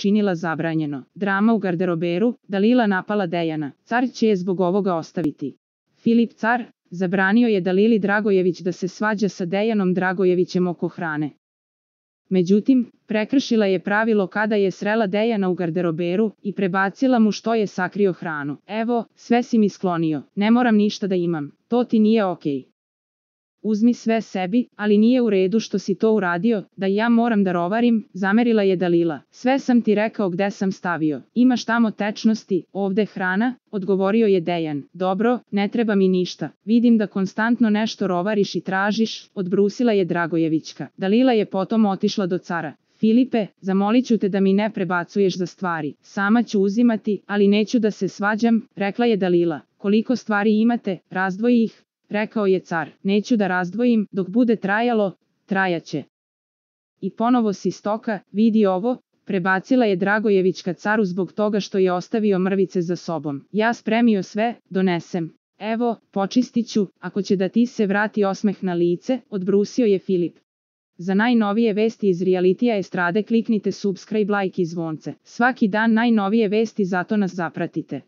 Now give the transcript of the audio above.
učinila zabranjeno. Drama u garderoberu, Dalila napala Dejana. Car će je zbog ovoga ostaviti. Filip car zabranio je Dalili Dragojević da se svađa sa Dejanom Dragojevićem oko hrane. Međutim, prekršila je pravilo kada je srela Dejana u garderoberu i prebacila mu što je sakrio hranu. Evo, sve si mi sklonio, ne moram ništa da imam, to ti nije okej. Uzmi sve sebi, ali nije u redu što si to uradio, da ja moram da rovarim, zamerila je Dalila. Sve sam ti rekao gde sam stavio. Imaš tamo tečnosti, ovde hrana, odgovorio je Dejan. Dobro, ne treba mi ništa. Vidim da konstantno nešto rovariš i tražiš, odbrusila je Dragojevićka. Dalila je potom otišla do cara. Filipe, zamolit ću te da mi ne prebacuješ za stvari. Sama ću uzimati, ali neću da se svađam, rekla je Dalila. Koliko stvari imate, razdvoji ih. Rekao je car, neću da razdvojim, dok bude trajalo, trajaće. I ponovo si stoka, vidi ovo, prebacila je Dragojevićka caru zbog toga što je ostavio mrvice za sobom. Ja spremio sve, donesem. Evo, počistit ću, ako će da ti se vrati osmeh na lice, odbrusio je Filip. Za najnovije vesti iz realitija estrade kliknite subscribe, like i zvonce. Svaki dan najnovije vesti, zato nas zapratite.